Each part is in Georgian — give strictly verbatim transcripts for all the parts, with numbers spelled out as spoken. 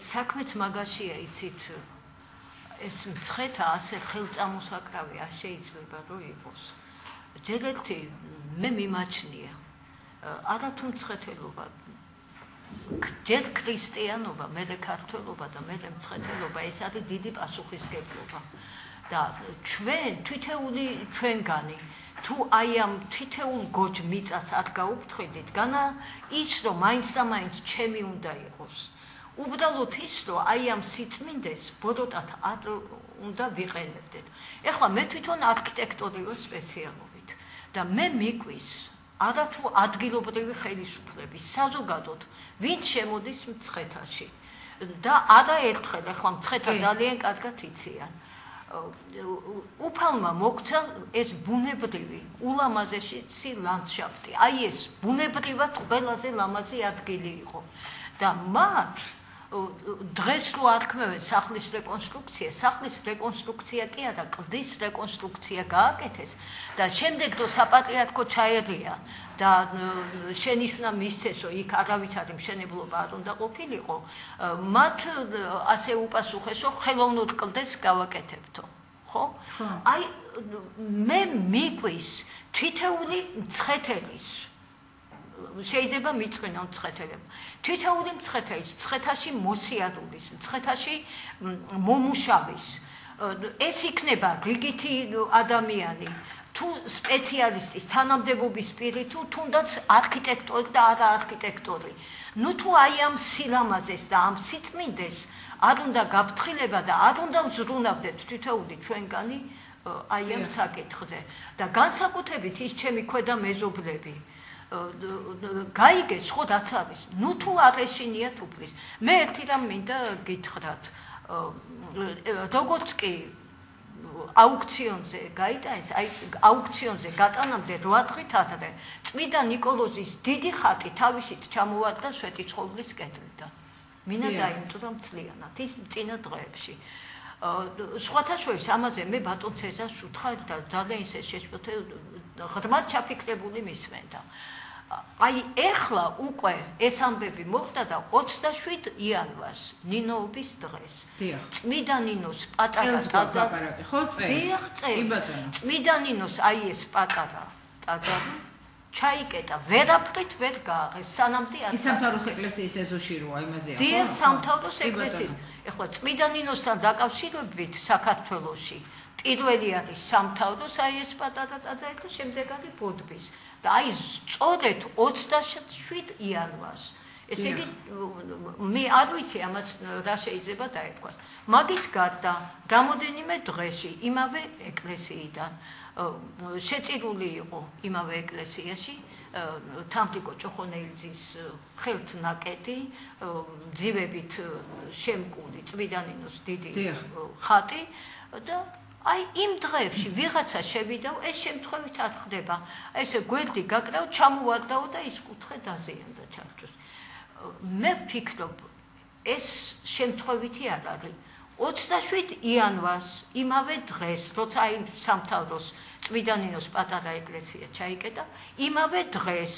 საქმეც მაგაშია იცით ეს მცხეთა ასე ხელწამოსაკრავი არ შეიძლება რომ იყოს. ჯერ ერთი მე მიმაჩნია არა თუ მცხეთელობა ჯერ ქრისტიანობა, მერე ქართველობა და მერე მცხეთელობა ეს არის დიდი პასუხისმგებლობა. და ჩვენ თითეული ჩვენგანი თუ აი ამ თითეულ გოჯ მიწას არ გაუფრთხილდით, განა ის რომ მაინც და მაინც ჩემი უნდა იყოს. უბრალოდ ის რომ აი ამ სიწმინდეს ბოდოტად არ უნდა ვიყენებდეთ. ეხლა მე თვითონ არქიტექტორი ვარ სპეციალობით და მე მიკვის არა თუ ადგილობრივი ხელისუფლების საზოგადოდ ვინც შემოდის მცხეთაში და არაერთხელ ეხლა მცხეთა ძალიან კარგად იციან. უფალმა მოგცა ეს ბუნებრივი ულამაზესი ლანდშაფტი. აი ეს ბუნებრივად ყველაზე ლამაზი ადგილი იყო. და მათ დღეს რო არქმევენ სახლის რეკონსტრუქცია, სახლის რეკონსტრუქცია კი არა, კლდის რეკონსტრუქცია გააკეთეს და შემდეგ რო საპატრიარქო ჩაერია და შენიშვნა მისცესო, იქ არავის არის მშენებლობა არ უნდა ყოფილიყო, მათ ასე უპასუხესო, ხელოვნურ კლდეს გავაკეთებთო. ხო? აი მე მიკვის თითეული მცხეთელის შეიძლება მიწყინა მცხეთელებმა. თითეული მცხეთელის, მცხეთაში მოსიარულის, მცხეთაში მომუშავის. ეს იქნება რიგითი ადამიანი, თუ სპეციალისტის, თანამდებობის პირი, თუ თუნდაც არქიტექტორი და არა არქიტექტორი. ნუ თუ აი ამ სილამაზეს და ამ სიწმინდეს არ უნდა გაფრთხილება და არ უნდა ვზრუნავდეთ თითეული ჩვენგანი აი ამ საკითხზე. და განსაკუთრებით ის ჩემი ქვედა მეზობლები გაიგეს ხო რაც არის. ნუ თუ არ ეშინიათ უფლის. მე ერთი რამ მინდა გითხრათ. როგორც კი აუქციონზე გაიტანეს, აი აუქციონზე გატანამდე რვა დღით ადრე წმიდა ნიკოლოზის დიდი ხატი თავისით ჩამოვარდა სვეტიცხოვლის კედლიდან. მინა დაიმტვრა მთლიანად ის წინა დღეებში. სხვათა შორის ამაზე მე ბატონ ცეზარს ვუთხარ და ძალიან ისე შეშფოთე ღრმად ჩაფიქრებული მისმენდა. აი ეხლა უკვე ეს ამბები მოხდა და ოცდაშვიდ იანვარს ნინოობის დღეს. წმიდა ნინოს პატარა ტაძარი ხო წელს. კი ბატონო. წმიდა ნინოს აი ეს პატარა ტაძარი ჩაიკეტა, ვერაფრით ვერ გააღეს, სანამდე არ. ის სამთავროს ეკლესიის ეზოში როა იმაზეა, ხო? დიახ, სამთავროს ეკლესიის. ეხლა წმიდა ნინოსთან დაკავშირებით საქართველოში პირველი არის სამთავროს აი ეს პატარა ტაძარი და შემდეგ არის ბოდბის. და აი სწორედ ოცდაშვიდ იანვარს. ესე იგი მე არ ვიცი ამას რა შეიძლება დაეთქვას. მაგის გარდა გამოდენიმე დღეში იმავე ეკლესიიდან შეწირული იყო იმავე ეკლესიაში თამრიკო ჭოხონელიძის ხელთ ნაკეთი ძივებით შემკული წმიდა ნინოს დიდი ხატი და აი იმ დღეებში ვიღაცა შევიდა, ეს შემთხვევით არ ხდება. ესე გვერდი გაკრავ, ჩამოვარდაო და ის კუთხე დაზიანდა ჩარჩოს. მე ვფიქრობ, ეს შემთხვევითი არ არის. ოცდაშვიდ იანვარს, იმავე დღეს, როცა აი სამთავროს წმიდა ნინოს პატარა ეკლესია ჩაიკეტა, იმავე დღეს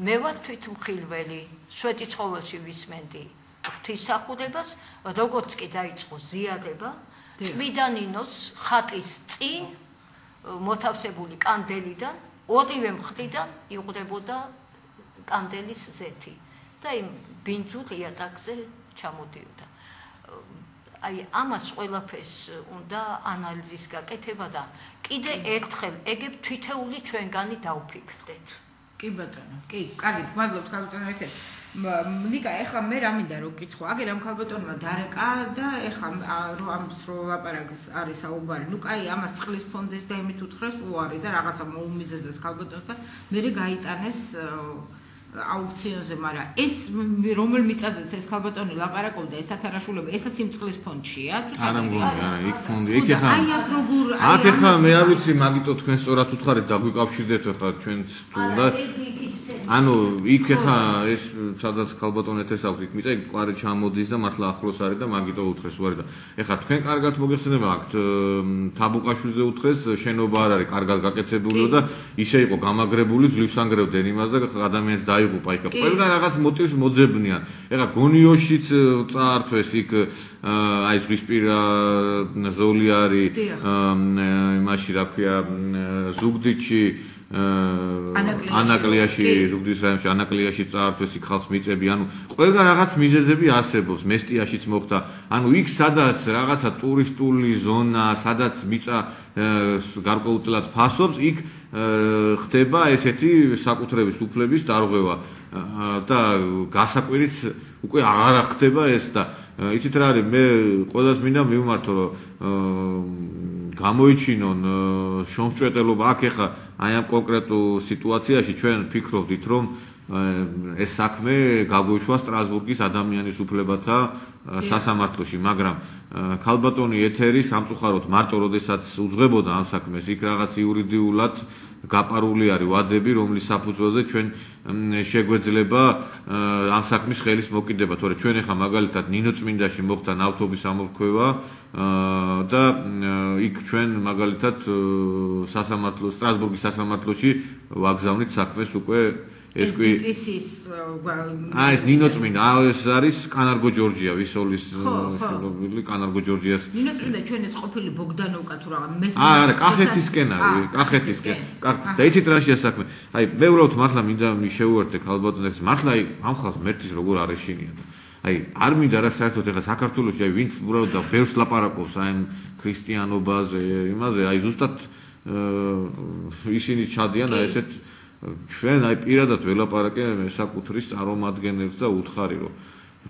მე ვარ თვითმხილველი, სვეტიცხოველში ვისმენდი ღვთისმსახურებას, როგორც კი დაიწყო ზიარება წმიდა ნინოს ხატის წინ მოთავსებული კანდელიდან ორივე მხრიდან იყრებოდა კანდელის ზეთი და იმ ბინძურ იატაკზე ჩამოდიოდა. აი ამას ყველაფერს უნდა ანალიზის გაკეთება და კიდე ერთხელ ეგებ თითეული ჩვენგანი დავფიქრდეთ. კი ბატონო, კი, კარგით, მადლობთ ქალბატონო ერთად. ნიკა, ეხლა მე რა მინდა რომ ვკითხო, აგერ ამ ქალბატონმა დარეკა და ეხლა რომ ამის რო ლაპარაკის არის საუბარი. ნუ კაი, ამას წყლის ფონდეს და იმით უთხრეს უარი და რაღაცა მოუმიზეზეს ქალბატონს და მე გაიტანეს აუქციონზე, მაგრამ ეს რომელ მიწაზეც ეს ქალბატონი ლაპარაკობდა, ეს თათარაშულება, ესაც იმ წყლის ფონდშია? არა მგონი, არა, იქ ფონდი, იქ ეხა. აი აქ როგორ აქ ეხა მე არ ვიცი, მაგიტო თქვენ სწორად უთხარით და გვიკავშირდეთ ეხლა ჩვენც თუ და ანუ იქ ხა ეს სადაც ქალბატონ ეთეს აქვს იქ მიწა კვარი ჩამოდის და მართლა ახლოს არის და მაგიტო უთხრეს უარი და ეხა თქვენ კარგად მოგეხსენება აქ თაბუკაშვილზე უთხრეს შენობა არ არის კარგად გაკეთებულიო და ისე იყო გამაგრებული ძლივს ანგრევდნენ იმას და ადამიანს დაიღუპა იქ ყველგან რაღაც მოტივს მოძებნიან ეხა გონიოშიც წაართვეს იქ აი ზღვისპირა ზოლი არის იმაში რა ქვია ზუგდიდში ანაკლიაში ზუგდიდის რაიონში ანაკლიაში წაართვეს იქ ხალხს მიწები ანუ ყველგან რაღაც მიზეზები არსებობს მესტიაშიც მოხდა ანუ იქ სადაც რაღაცა ტურისტული ზონა სადაც მიწა გარკვეულწილად ფასობს იქ ხდება ესეთი საკუთრების უფლების დარღვევა და გასაკვირიც უკვე აღარ ხდება ეს და იცით რა არის მე ყველას მინდა მივმართო რომ გამოიჩინონ შრომჭრეტელობა აქ ეხა აი ამ კონკრეტულ სიტუაციაში ჩვენ ფიქრობდით რომ ეს საქმე გაგვეშვა სტრასბურგის ადამიანის უფლებათა სასამართლოში მაგრამ ქალბატონი ეთერი სამწუხაროდ მარტო როდესაც უძღვებოდა ამ საქმეს იქ რაღაც იურიდიულად გაპარული არის ვადები რომლის საფუძველზე ჩვენ შეგვეძლება ამ საქმის ხელის მოკიდება თორე ჩვენ ახლა მაგალითად ნინოწმინდაში მოხდა ნავთობის ამორქვევა და იქ ჩვენ მაგალითად სასამართლო სტრასბურგის სასამართლოში ვაგზავნით საქმეს უკვე ეს კი აა ეს ნინოწმინდა ეს არის კანარგო ჯორჯია ვისოლის შეგობილი კანარგო ჯორჯიას ნინოწმინდა ჩვენ ეს ყოფილი ბოგდანოვკა თუ რაღაც მესმე აა არა კახეთისკენ არის კახეთისკენ და იცით რა შეასაქმე აი მე უბრალოდ მართლა მინდა მიშევუერთე ქალბატონებს მართლა აი ამ ხალხს მერტის როგორ არ ეშინია აი არ მინდა რა საერთოდ ეხა საქართველოში აი ვინც უბრალოდ და ბევრს ლაპარაკობს აი ქრისტიანობაზე იმაზე აი ზუსტად ისინი ჩადიან აი ესეთ ჩვენ აი პირადად ველაპარაკე საკუთრის წარმომადგენელს და უთხარი რომ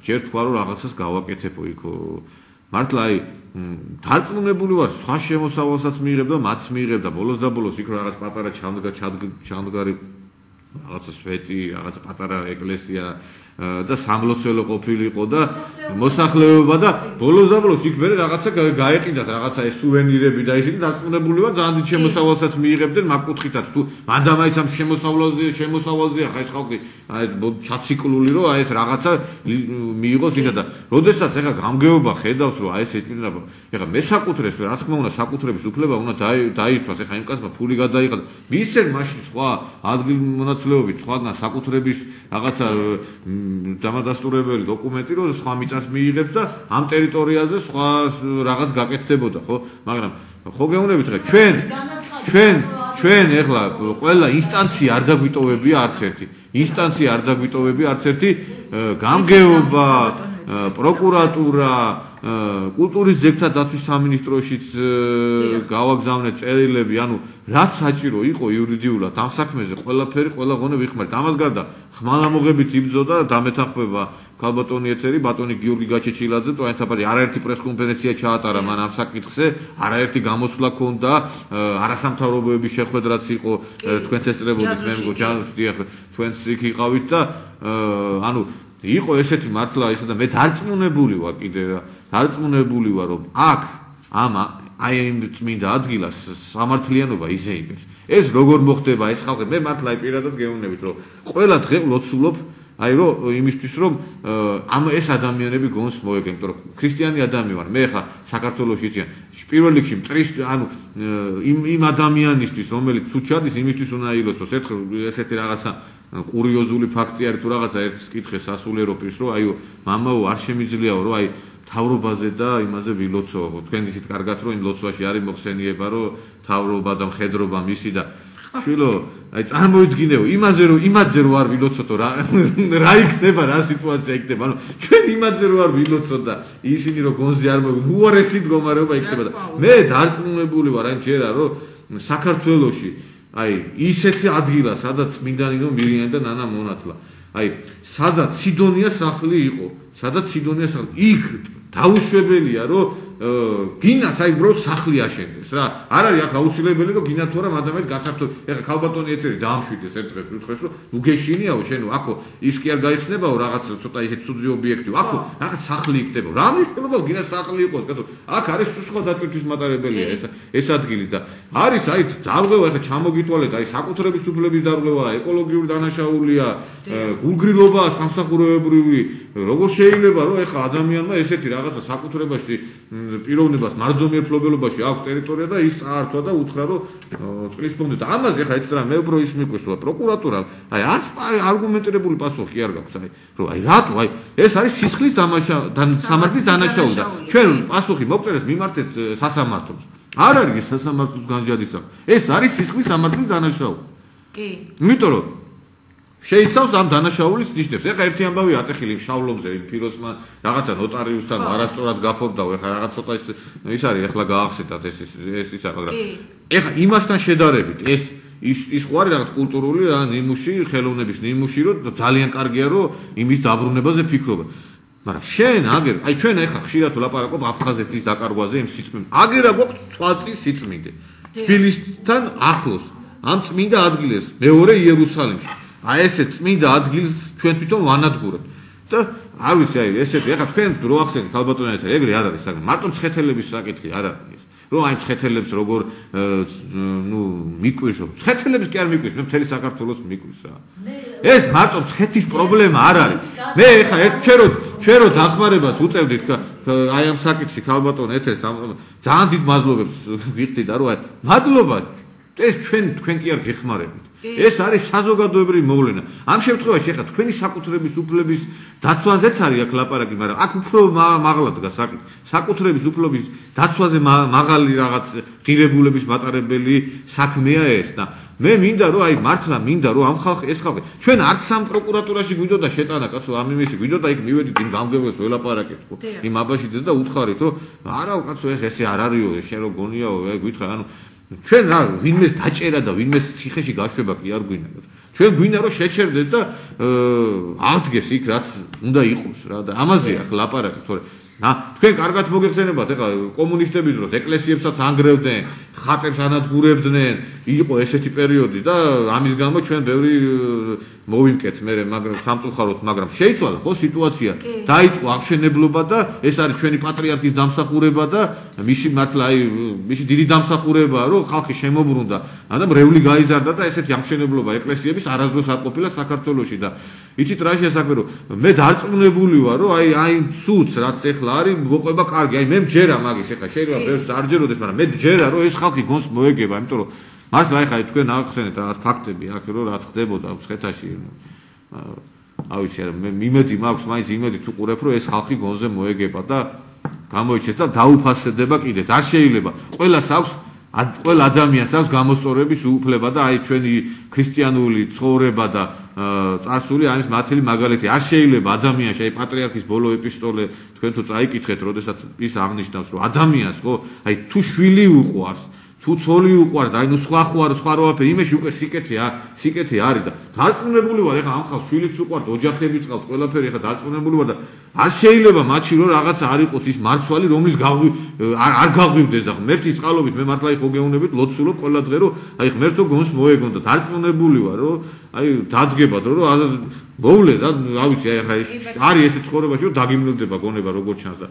ჯერ თქვა რომ რაღაცას გავაკეთებო იქო მართლა აი დარწმუნებული ვარ სხვა შემოსავალსაც მიიღებ და მათ მიიღებ და ბოლოს და ბოლოს იქ რაღაც პატარა ჩამდგარი რაღაცა სვეტი რაღაცა პატარა ეკლესია და სამლოცველო ყოფილიყო და მოსახლეობა და ბოლოს და ბოლოს იქ მე რაღაცა გაეყიდათ რაღაცა ეს სუვენირები და ისინი დარწმუნებული ვარ ძალიან დიდ შემოსავალსაც მიიღებდნენ მაგ კუთხითაც თუ მანდამაიც ამ შემოსავალზე შემოსავალზეა ხა ეს ხალხი აი ჩაციკლული რომ აი ეს რაღაცა მიიღოს ისა და როდესაც ეხა გამგეობა ხედავს რომ აი ეს ეჭვინა ეხა მე საკუთრებს რა თქმა უნდა საკუთრების უფლება უნდა დაიცვას ეხა იმ კაცმა ფული გადაიღო მისცენ მაშინ სხვა ადგილმონაცვლეობით სხვაგან საკუთრების რაღაცა დამადასტურებელი დოკუმენტი რომ სხვა მიწას მიიღებს და ამ ტერიტორიაზე სხვა რაღაც გაკეთდებოდა ხო მაგრამ ხო გეუბნებით ხა ჩვენ ჩვენ ჩვენ ეხლა ყველა ინსტანცია არ დაგვიტოვებია არც ერთი ინსტანცია არ დაგვიტოვებია არც ერთი გამგეობა პროკურატურა კულტურის ძეგლთა დაცვის სამინისტროშიც გავაგზავნეთ წერილები, ანუ რაც საჭირო იყო იურიდიულად ამ საქმეზე ყველაფერი ყველა ღონე ვიხმართ. ამას გარდა ხმალამოღებით იბრძოდა დამეთანხმება ქალბატონი ეთერი, ბატონი გიორგი გაჩეჩილაძე, წვანეთაბადი არაერთი პრესკონფერენცია ჩაატარა მან ამ საკითხზე, არაერთი გამოსვლა ქონდა, არასამთავრობოების შეხვედრაც იყო, თქვენც ესწრებოდით, მე მგონი თქვენც იქ იყავით და ანუ იყო ესეთი მართლა ისა და მე დარწმუნებული ვარ კიდე დარწმუნებული ვარ რომ აქ ამა აი იმ წმინდა ადგილას სამართლიანობა იზეიმებს ეს როგორ მოხდება ეს ხალხი მე მართლა აი პირადად გეუბნებით რომ ყველა დღე ვლოცულობ აი რომ იმისთვის რომ ამ ეს ადამიანები გონს მოეგენ იმიტომ რომ ქრისტიანი ადამიანი ვარ მე ხა საქართველოში იციან პირველ რიგში მტრის ანუ იმ იმ ადამიანისთვის რომელიც უჩადის იმისთვის უნდა ილოცოს ერთხელ ესეთი რაღაცა კურიოზული ფაქტი არის თუ რაღაცა ერთ კითხეს სასულიერო პირს რომ აიო მამაო არ შემიძლიაო რომ აი თავრობაზე და იმაზე ვილოცო თქვენ ისეთ კარგად რომ იმ ლოცვაში არის მოხსენიება რომ თავრობა და მხედრობა მისი და შვილო აი წარმოიდგინეო იმაზე რომ იმაზე რომ არ ვილოცოთ რა რა იქნება რა სიტუაცია იქნება ანუ ჩვენ იმაზე რომ არ ვილოცოთ და ისინი რომ გონზე არ მოვიდნენ უარესი მდგომარეობა იქნება და მე დარწმუნებული ვარ ან ჯერა რომ საქართველოში აი ისეთი ადგილა სადაც წმინდანინო მირიანი და ნანა მონათლა აი სადაც სიდონია სახლი იყო სადაც სიდონია სახლი იქ დაუშვებელია რომ გინაც აი უბრალოდ სახლი აშენდეს რა. არ არის აქ აუცილებელი რომ გინათ თუ არა ადამიანს გასართობ. ეხლა ქალბატონი ეცერი დაამშვიდეს ერთ დღეს უთხრეს რომ ნუ გეშინიაო შენო აქო ის კი არ გაიხსნებაო რაღაც ცოტა ისეთ ცუდი ობიექტი. აქო რაღაც სახლი იქნება. რა მნიშვნელობა გინათ სახლი იყოს კაცო. აქ არის სულ დაწვირთვის მატარებელია ეს ეს ადგილი და არის აი დარღვევა ეხლა ჩამოგითვალეთ აი საკუთრების უფლების დარღვევა, ეკოლოგიური დანაშაულია, გულგრილობა სამსახურებრივი. როგორ შეიძლება რომ ეხლა ადამიანმა ესეთი რაღაცა საკუთრებაში პიროვნებას მარჯვენა ფლობელობაში აქვს ტერიტორია და ის წაართვა და უთხრა რომ წყლის ფონდი და ამაზე ეხლა ეცრა მე უფრო ის მიკვეს რომ პროკურატურა აი არც არგუმენტირებული პასუხი არ გაქვს აი რომ აი რატო აი ეს არის სისხლის დამაშა სამართლის დანაშაული და ჩვენ პასუხი მოგწერეს მიმართეთ სასამართლოს არ არის ეს სასამართლოს განჯადისა ეს არის სისხლის სამართლის დანაშაული კი იმიტომ რომ შეიცავს ამ დანაშაულის ნიშნებს. ეხლა ერთი ამბავი ატეხილი შავლომზე ფიროსმა რაღაცა ნოტარიუსთან არასწორად გაფორდაო. ეხლა რაღაც ცოტა ის ის არის ეხლა გაახსენდათ ეს ეს ისა, მაგრამ ეხლა იმასთან შედარებით ეს ის ის ხო არის რაღაც კულტურული რა ნიმუში, ხელოვნების ნიმუში, რომ ძალიან კარგია რომ იმის დაბრუნებაზე ფიქრობა. მაგრამ შენ აგერ, აი ჩვენ ეხლა ხშირად ვლაპარაკობ აფხაზეთის დაკარგვაზე იმ სიწმინდე. აგერა გვაქვს თვალწის სიწმინდე. თბილისთან ახლოს ამ წმინდა ადგილას მეორე იერუსალიმში. აი ესე წმინდა ადგილს ჩვენ თვითონ ვანადგურებთ და არ ვიცი აი ესეთი ეხლა თქვენ რო ახსენეთ ქალბატონებთან ეგრე არ არის საკითხი მარტო მცხეთელების საკითხი არ არის რომ აი მცხეთელებს როგორ ნუ მიკვირს რომ მცხეთელებს კი არ მიკვირს მე მთელი საქართველოს მიკვირს რა ეს მარტო მცხეთის პრობლემა არ არის მე ეხლა ერთ ჩვენ რო ჩვენ რო დახმარებას უწევდით აი ამ საკითხში ქალბატონ ეთერს ძალიან დიდ მადლობებს ვიხდით და რომ აი მადლობა ეს ჩვენ თქვენ კი არ გეხმარებით ეს არის საზოგადოებრივი მოვლენა. ამ შემთხვევაში ახლა თქვენი საკუთრების უფლების დაცვაზეც არის აქ ლაპარაკი, მაგრამ აქ უფრო მაღლა დგას საკითხი. საკუთრების უფლების დაცვაზე მაღალი რაღაც ღირებულების მატარებელი საქმეა ეს და მე მინდა რომ აი მართლა მინდა რომ ამ ხალხი ეს ხალხი ჩვენ არც სამ პროკურატურაში გვიდოდა შეტანა კაცო ამ იმისი გვიდოდა იქ მივედით იმ გამგებლებს ველაპარაკეთ ხო იმ აბაშიძეს და უთხარით რომ არაო კაცო ეს ესე არ არისო შენ რო გონიაო გითხრა ანუ ჩვენ რა ვინმეს დაჭერა და ვინმეს ციხეში გაშვება კი არ გვინდა. ჩვენ გვინდა რომ შეჩერდეს და აღდგეს იქ რაც უნდა იყოს რა და ამაზე აქ ლაპარაკი თორე ა თქვენ კარგად მოგეხსენებათ ეხლა კომუნისტების დროს ეკლესიებსაც ანგრევდნენ, ხატებს ანადგურებდნენ, იყო ესეთი პერიოდი და ამის გამო ჩვენ ბევრი მოვიმკეთ მე მაგრამ სამწუხაროდ მაგრამ შეიცვალა ხო სიტუაცია დაიწყო აღშენებლობა და ეს არის ჩვენი პატრიარქის დამსახურება და მისი მართლა აი მისი დიდი დამსახურებაა რომ ხალხი შემოbrunდა და მრევლი გაიზარდა და ესეთი აღშენებლობა ეკლესიების არასდროს არ ყოფილა საქართველოში და იცით რა შესაძლოა რომ მე დარწმუნებული ვარ რომ აი აი ცუც რაც ეხლა არის მოყვება კარგი აი მე მჯერა მაგის ეხლა შეიძლება ბევრს არ ჯეროდეს მაგრამ მე მჯერა რომ ეს ხალხი გონს მოეგება იმიტომ რომ მართლა ეხლა თქვენ აღხსენეთ რაღაც ფაქტები აქ რომ რაც ხდებოდა მცხეთაში არ ვიცი არა მე იმედი მაქვს მაინც იმედი თუ ყურებ რომ ეს ხალხი გონზე მოეგება და გამოიჩეს და დაუფასდება კიდეც არ შეიძლება ყველას აქვს ყველა ადამიანს აქვს გამოსწორების უფლება და აი ჩვენი ქრისტიანული ცხოვრება და წარსული არის მათელი მაგალითი არ შეიძლება ადამიანს აი პატრიარქის ბოლო ეპისტოლე თქვენ თუ წაიკითხეთ როდესაც ის აღნიშნავს რომ ადამიანს ხო აი თუ შვილი უყვარს თუ ცოლი უყვარს და აი ნუ სხვა ხო არის სხვა როაფერი იმეში უკვე სიკეთე სიკეთე არის და დარწმუნებული ვარ ეხლა ამ ხალხს შვილიც უყვართ ოჯახებიც ყავთ ყველაფერი ეხლა დარწმუნებული ვარ და არ შეიძლება მათში რომ რაღაცა არ იყოს ის მარცვალი რომლის გავი არ გაღვივდეს და ღმერთის წყალობით მე მართლა ხო გეუბნებით ლოცულობ ყველა დღე რომ აი ღმერთო გონს მოეგონ და დარწმუნებული ვარ რომ აი დადგებათ რომ მოვლე და რა ვიცი აი ახლა არის ესე ცხოვრებაში რომ დაგიმნელდება გონება როგორ ჩანს და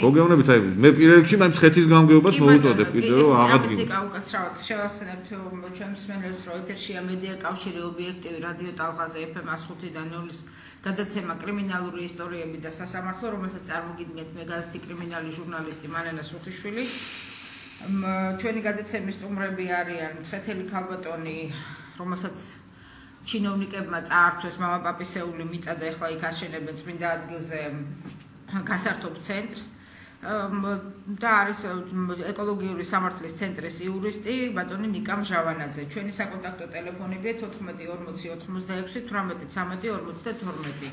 ხო გეუბნებით აი მე პირველ რიგში მე მცხეთის გამგეობას მოუწოდებ კიდე რომ აღადგინო უკაცრავად შევახსენებთ ჩვენს მენელს რომ ეთერშია მედია კავშირი ობიექტივი რადიო ტალღაზე ეფ ემ one five და null-ის გადაცემა კრიმინალური ისტორიები და სასამართლო რომელსაც წარმოგიდგენთ მე გაზეთი კრიმინალი ჟურნალისტი მანენა სუხიშვილი ჩვენი გადაცემის სტუმრები არიან მცხეთელი ქალბატონი რომელსაც ჩინოვნიკებმა წაართვეს მამაპაპისეული მიწა და ეხლა იქ აშენებენ წმინდა ადგილზე გასართობ ცენტრს და არის ეკოლოგიური სამართლის ცენტრის იურისტი ბატონი ნიკა მჟავანაძე. ჩვენი საკონტაქტო ტელეფონებია თოთხმეტი ორმოცი ოთხმოცდაექვსი თვრამეტი ცამეტი ორმოცდათორმეტი.